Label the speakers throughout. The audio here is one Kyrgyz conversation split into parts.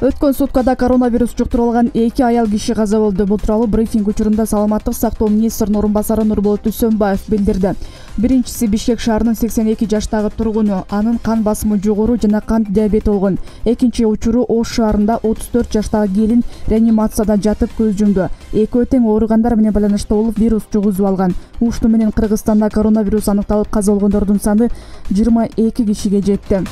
Speaker 1: Өткөн суткада коронавирус жуктуруп алган 2 аял киши каза болду. Бул тууралуу брифинг учурунда саламаттык сактоо министринин орун басары Нурболот Үсөнбаев билдирди. Биринчиси Бишкек шаарынын 82 жаштагы тургуну, анын кан басымы жогору жана кант диабети болгон. Экинчи учуру Ош шаарында 34 жаштагы келин реанимацияда жатып көз жумду. Экөө тең ооругандар менен байланышта болуп вирус жугузуп алган. Ушту менен Кыргызстанда коронавирус аныкталып каза болгондордун саны 22 кишиге жетти.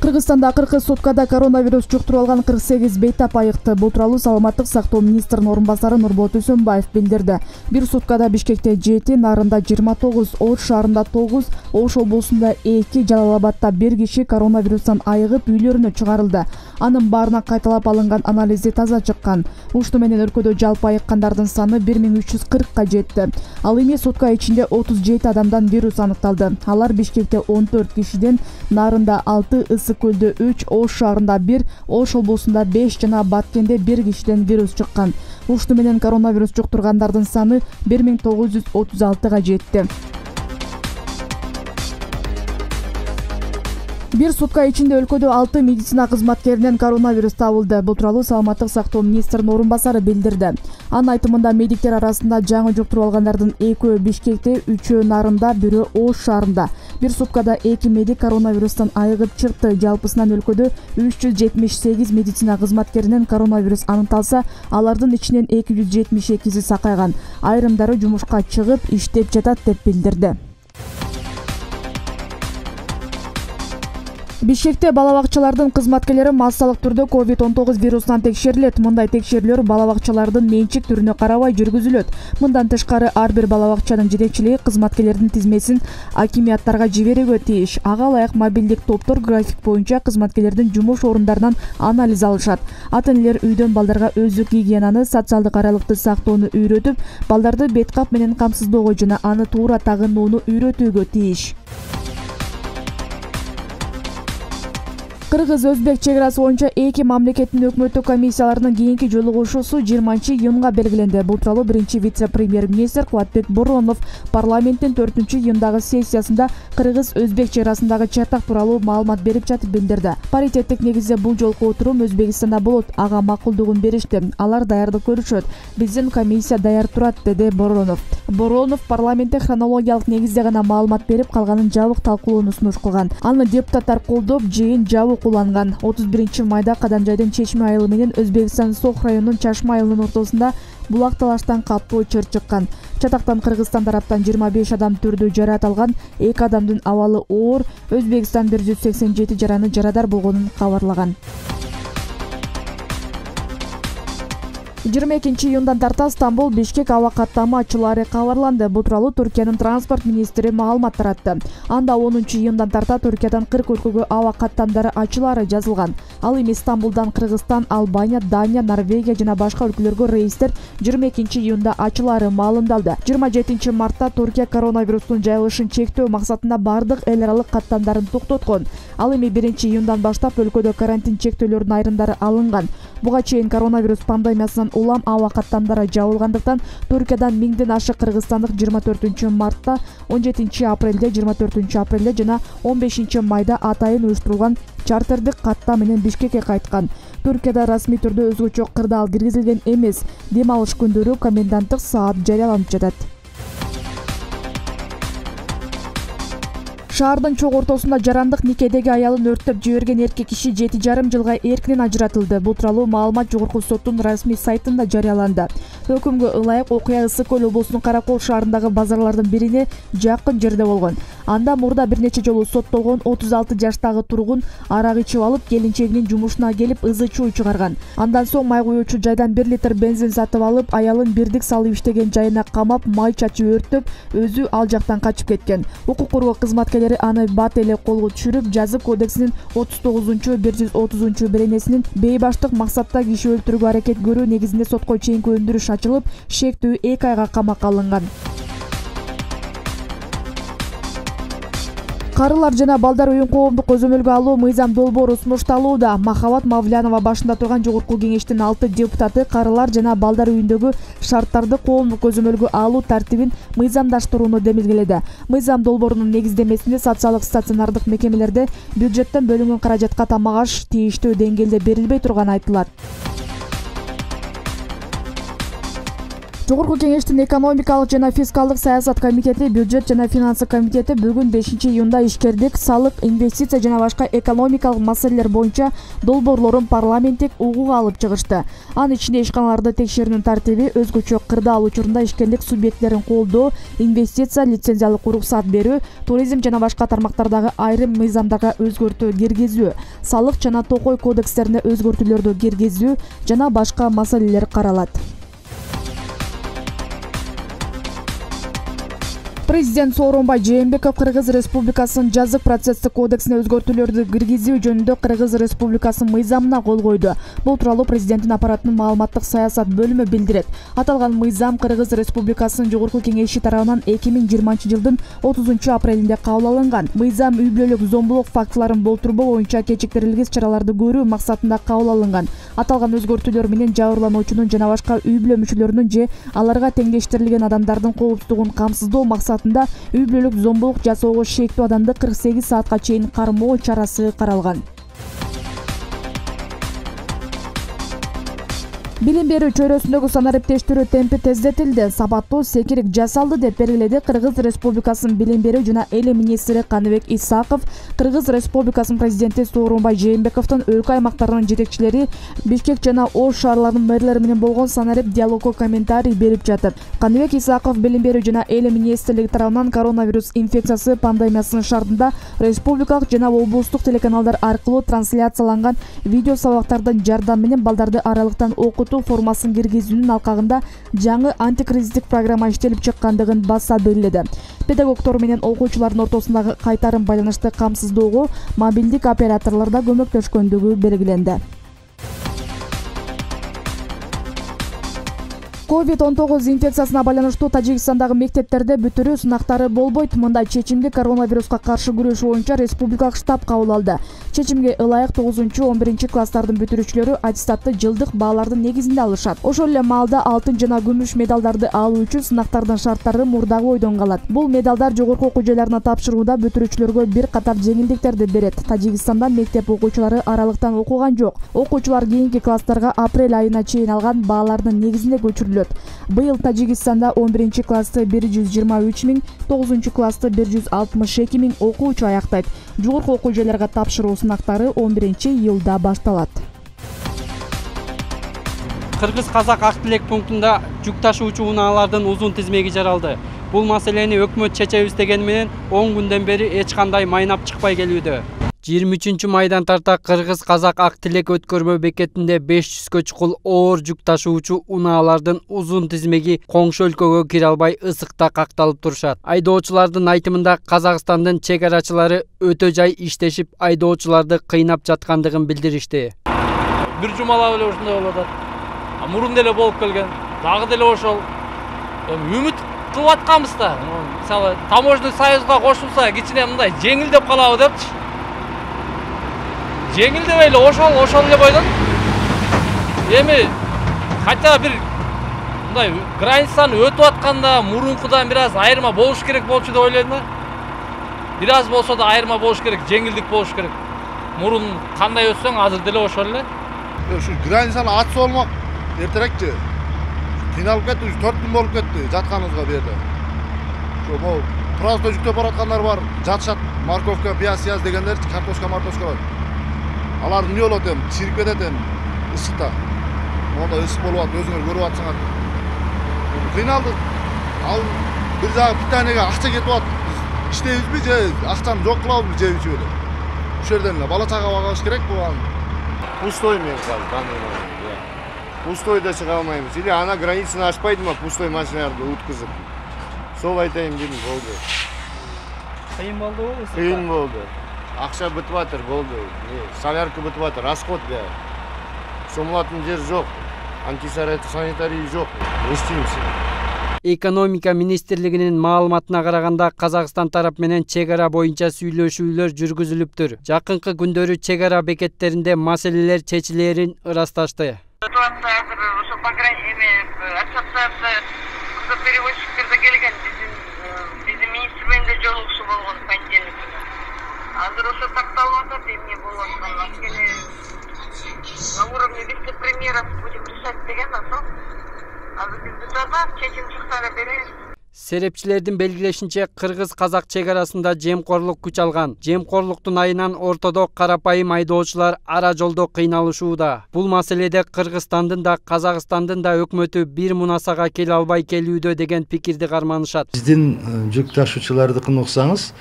Speaker 1: Кыргызстанда акыркы суткада коронавирус жуктуруп алган 48 бейтап айыкты. Бул тууралуу саламаттык сактоо министринин орун басары Нурболот Үсөнбаев билдирди. Бир суткада Бишкекте 7, Нарында 29, Ош шаарында 9, Ош облусунда 2, Жалал Абадта 1 киши коронавирустан айыгып үйлөрүнө чыгарылды. Анын баарына кайталап алынган анализи таза чыккан. Ушту менен өлкөдө жалпы айыккандардын саны 1340ка жетти. Ал эми сутка ичинде 37 адамдан вирус аныкталды. Алар Бишкекте 14 кишиден, Нарында 6, Ысык-Көлдө 3, Ош шаарында 1, Ош облусунда 5 жана Баткенде 1 кишиден вирус чыккан. Ушту менен коронавирус жуктургандардын саны 1936га жетти. Бир сутка ичинде өлкөдө 6 медицина кызматкеринен коронавирус табылды. Бул тууралуу саламаттык сактоо министринин орун басары билдирди. Анын айтымында медиктер арасында жаңы жуктуруп алгандардын 2-өө Бишкекте, 3-өө Нарында, 1-өө Ош шаарында. Бир суткада 2 медик коронавирустан айыгып чыкты. Жалпысынан өлкөдө 378 медицина кызматкеринен коронавирус аныкталса, алардын ичинен 272си сакайган. Айрымдары жумушка чыгып, иштеп жатат деп билдирди. Бишкекте бала-бакчалардын кызматкерлери массалык түрдө COVID-19 вирусунан текшерилет. Мындай текшерүүлөр бала-бакчалардын менчик түрүнө карабай жүргүзүлөт. Мындан тышкары ар бир бала-бакчанын жетекчилиги кызматкерлердин тизмесин акимияттарга жиберүүгө тийиш. Ага ылайык мобилдик топтор график боюнча кызматкерлердин жумуш орундарынан анализ алышат. Ата-энелер үйдөн балдарга өздүк гигиенаны, социалдык аралыкты сактоону үйрөтүп, балдарды бет кап менен камсыздоого жана аны туура тагынууну үйрөтүүгө тийиш. Кыргыз-Өзбек чек арасы боюнча эки мамлекеттин өкмөттүк комиссияларынын кийинки жолугушуусу 20-июнга белгиленди. Бул тууралуу биринчи вице-премьер-министр Кубатбек Боронов парламенттин 4-июндагы сессиясында Кыргыз-Өзбек чек арасындагы чатак тууралуу маалымат берип жатып билдирди. Паритеттик негизде бул жолку отурум Өзбекстанда болот. Ага макулдугун беришти. Алар даярдык көрүшөт. Биздин комиссия даяр турат, деди Боронов. Боронов парламентте хронологиялык негизде гана маалымат берип, калганын жабык талкуулоону сунуш кылган. Аны депутаттар колдоп, жыйын жабык кулланган. 31 майда Каданжайдын Чечме айылы менен Өзбекстан Сох районунун Чашма айылынын ортосунда булак талаштан катуу чыр чыккан. Чатактан Кыргызстан тараптан 25 адам түрдүү жараат алган, 2 адамдын абалы оор, Өзбекстан 187 жараны жарадар болгонун кабарлаган. 22-июндан тарта Стамбул Бишкек аба каттамы ачылаары кабарланды. Бул тууралуу Түркиянын транспорт министри маалымат таратты. Анда 10-июндан тарта Түркиядан 40 өлкөгө аба каттамдары ачылаары жазылган. Ал эми Стамбулдан Кыргызстан, Албания, Дания, Норвегия жана башка өлкөлөргө рейстер 22-июнда ачылаары маалымдалды. 27 мартта Түркия коронавирустун жайылышын чектөө максатында бардык эл аралык каттамдарын токтоткон. Ал эми 1-июндан баштап өлкөдө карантин чектөөлөрүнүн айрымдары алынган. Буга чейин коронавирус пандемиясынан улам аба каттамдары жабылгандыктан Түркиядан 1000ден ашык кыргызстандык 24 мартта, 17 апрелде, 24 апрелде жана 15 майда атайын уюштурулган чартердик каттам менен Бишкекке кайткан. Түркияда расмий түрдө өзгөчө кырдаал киргизилген эмес. Дем алыш күндөрү коменданттык саат жарыяланып жатат. Шаардын чок ортосунда жарандык никедеги аялын өрттөп жиберген эркек киши 7,5 жылга эркинен ажыратылды. Бул тууралуу маалымат жогорку соттун расмий сайтында жарыяланды. Өкүмгө ылайык окуя Ысык-Көл облусунун Каракол шаарындагы базарлардын бирине жакын жерде болгон. Анда мурда бир нече жолу соттолгон 36 жаштагы тургун арак ичип алып, келинчегинин жумушуна келип ызы-чуу чыгарган. Андан соң май куюучу жайдан 1 литр бензин сатып алып, аялын бирдик салып иштеген жайына камап, май чачып өрттөп, өзү ал жактан качып кеткен. Укук коргоо кызматкерлери аны бат эле колго түшүрүп, жазык кодексинин 39-130 беренесинин бейбаштык максатта киши өлтүрүүгө аракет көрүү негизинде сотко чейинки өндүрүш ачылып, шектүү 2 айга камакка алынган. Карылар жана балдар үйүн коомдук көзөмөлгө алуу мыйзам долбоору сунушталууда. Махабат Мавлянова башында турган Жогорку кеңештин 6 депутаты карылар жана балдар үйүндөгү шарттарды коомдук көзөмөлгө алуу тартибин мыйзамдаштырууну демилгеледи. Мыйзам долбоорунун негиздемесинде социалдык стационардык мекемелерде бюджеттен бөлүнгөн каражатка тамак аш тийиштүү деңгээлде берилбей турганы айтылат. Жогорку кеңештин экономикалык жана фискалдык саясат комитети, бюджет жана финансы комитети бүгүн 5-июнда ишкердик, салык, инвестиция жана башка экономикалык маселелер боюнча долбоорлорун парламенттик угууга алып чыгышты. Анын ичинде ишканаларды текшерүүнүн тартиби, өзгөчө кырдаал учурунда ишкерлик субъектилерин колдоо, инвестиция, лицензиялык уруксат берүү, туризм жана башка тармактардагы айрым мыйзамдарга өзгөртүү киргизүү, салык жана токой кодекстерине өзгөртүүлөрдү киргизүү жана башка маселелер каралат. Президент Сооронбай Жээнбеков Кыргыз Республикасынын жазык процесстик кодексине өзгөртүүлөрдү киргизүү жөнүндө Кыргыз Республикасынын мыйзамына кол койду. Бул тууралуу президенттин аппаратынын маалыматтык саясат бөлүмү билдирет. Аталган мыйзам Кыргыз Республикасынын Жогорку кеңеши тарабынан 2020-жылдын 30-апрелинде кабыл алынган. Мыйзам үй бүлөлүк зомбулук фактыларын болтурбоо боюнча кечиктирилгис чараларды көрүү максатында кабыл алынган. Аталган өзгөртүүлөр менен жабырлануучунун жана башка үй бүлө мүчөлөрүнүн же аларга теңдештирилген адамдардын коопсуздугун камсыздоо максатында үй бүлөлүк зомбулук жасоого шектүү адамды 48 саатка чейин кармоо чарасы каралган. Билим берүү чөйрөсүндөгү санариптештирүү темпи тездетилди. Сапаттуу секирик жасалды деп белгиледи Кыргыз Республикасынын билим берүү жана эли министри Каныбек Исаков. Кыргыз Республикасынын президенти Сооронбай Жээнбековдун өлкө аймактарынын жетекчилери Бишкек жана Ош шаарларынын мэрлери менен болгон санарип диалогко комментарий берип жатып. Каныбек Исаков билим берүү жана эли министрлиги тарабынан коронавирус инфекциясы пандемиясынын шартында республикалык жана облустук телеканалдар аркылуу трансляцияланган видео сабактардын жардамы менен балдарды аралыктан окутуу формасын киргизүүнүн алкагында жаңы антикризистик программа иштелип чыккандыгын баса белгиледи. Педагогдор менен окуучулардын ортосундагы кайтарым байланышты камсыздоого мобилдик операторлор да көмөктөшкөндүгү белгиленди. COVID-19 инфекциясына байланыштуу Тажикстандагы мектептерде бүтүрүү сынактары болбойт. Мындай чечимди коронавируска каршы күрөш боюнча республикалык штаб кабыл алды. Чечимге ылайык 9-11 класстардын бүтүрүүчүлөрү аттестатты жылдык баалардын негизинде алышат. Ошол эле маалда алтын жана күмүш медалдарды алуу үчүн сынактардын шарттары мурдагы бойдон калат. Бул медалдар жогорку окуу жайларына тапшырууда бүтүрүүчүлөргө бир катар жеңилдиктерди берет. Тажикстанда мектеп окуучулары аралыктан окуган жок. Окуучулар кийинки класстарга апрель айына чейин алган баалардын негизинде көчүрүлөт. Быйыл Тажикстанда 11 классты 123 миң, 9 классты 162 миң окуучу аяктайт. Жогорку окуу жайларга тапшыруу сынактары 11-июлда башталат.
Speaker 2: Кыргыз-казак ак тилек пунктунда жүк ташуучу унаалардын узун тизмеги жаралды. Бул маселени өкмөт чечебиз дегени менен 10 күндөн бери эч кандай майнап чыкпай келүүдө. 23 майдан тарта Кыргыз-казак ак тилек өткөрмө бекетинде 500гө чукул оор жүк ташуучу унаалардын узун тизмеги коңшу өлкөгө кире албай ысыкта какталып турушат. Айдоочулардын айтымында Казакстандын чек арачылары өтө жай иштешип, айдоочуларды кыйнап жаткандыгын билдиришти.
Speaker 3: Бир жумалап эле ушундай болуп атат. Мурун деле болуп келген. Дагы деле ошол. Үмүт кылып атканбыз да. Мисалы, таможный союзга кошулса, кичине мындай жеңилдеп калабы депчи. Жеңилдебей эле ошол эле бойдон. Эми хотя бир мындай границаны өтүп атканда мурункудан бир аз айырма болуш керек болчу деп ойлойм да. Бир аз болсо да айырма болуш керек, жеңилдик болуш керек. Мурун кандай өтсөң, азыр деле ошол эле.
Speaker 4: Ушу границаны атса болмок. Эртерекчи. Кыйналып кетти, 4 күн болуп кетти жатканыбызга бу жерде. Ошо просто жүктөп бараткандар бар, жатышат, морковка, пияз дегендер, картошка. Алар эмне болот эми, чирип кетет эми ысыкта. Монда ысык болуп атат, өзүңөр көрүп атсаңар. Кыйналдык. Ал бир жагы питанияга акча кетип атат. Иштейбизби же акчаны жок кылабызбы же ичип эле. Ушул жерден эле бала чага багыш керек болган.
Speaker 5: Пустой мен казыр. Пустойда чыга алмайбыз. Или ана границаны ашпайдымы пустой машиналарды уткузуп. Сол айтайын дедим, болду.
Speaker 3: Кыйын болдубу?
Speaker 5: Кыйын болду. Акча бүтүп атыр, болду. Солярка бүтүп атыр, расход да. Сомулатын жер жок. Антисанитарий жок. Не істейміз?
Speaker 2: Экономика министрлигинин маалыматына караганда Казакстан тарап менен чек ара боюнча сүйлөшүүлөр жүргүзүлүптүр. Жакынкы күндөрү чек ара бекеттеринде маселелер чечилерин ырасташты.
Speaker 6: Перевозчиктерде келген биздин министр менен да жолугушуу болгон понедельник күнү. Азыр ошо такталып атат, эмне болуп атканын анткени на уровне вице-премьеров будем решать деген да сол. Азыр биз бутарда чечим чыкса эле беребиз.
Speaker 2: Серепчилердин белгилешинче, кыргыз-казак чек арасында жемкорлук күч алган. Жемкорлуктун айынан ортодо карапайым айдоочулар ара жолдо кыйналышууда. Бул маселеде Кыргызстандын да, Казакстандын да өкмөтү бир мунасага келе албай келүүдө деген пикирди карманышат.
Speaker 7: Биздин жүк ташуучулардыкын уксаңыз,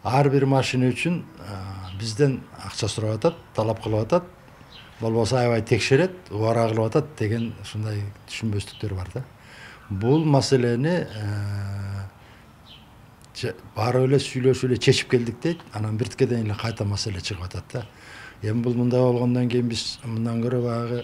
Speaker 7: ар бир машина үчүн бизден акча сурап атат, талап кылып атат, болбосо аябай текшерет, убара кылып атат деген ушундай түшүнбөстүктөр бар да. Бул маселени барып эле сүйлөшүп эле чечип келдик дейт. Анан бирткеден эле кайта маселе чыгып атат да. Эми бул мындай болгондон кийин биз мындан көрө баягы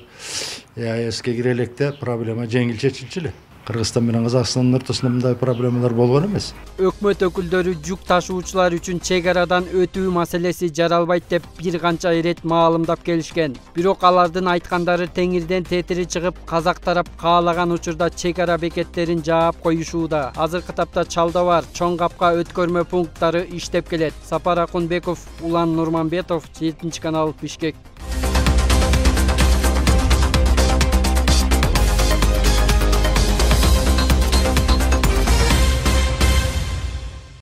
Speaker 7: ЕАЭСке кире электе проблема жеңил чечилчү эле. Кыргызстан менен Казакстандын ортосунда мындай проблемалар болгон эмес.
Speaker 2: Өкмөт өкүлдөрү жүк ташуучулар үчүн чек арадан өтүү маселеси жаралбайт деп бир канча ирет маалымдап келишкен. Бирок алардын айткандары теңирден тетири чыгып, казак тарап каалаган учурда чек ара бекеттерин жаап коюшууда. Азыркы тапта Чалда бар чоң капка өткөрмө пункттары иштеп келет. Сапар Акунбеков, Улан Нурманбетов, 7 канал, Бишкек.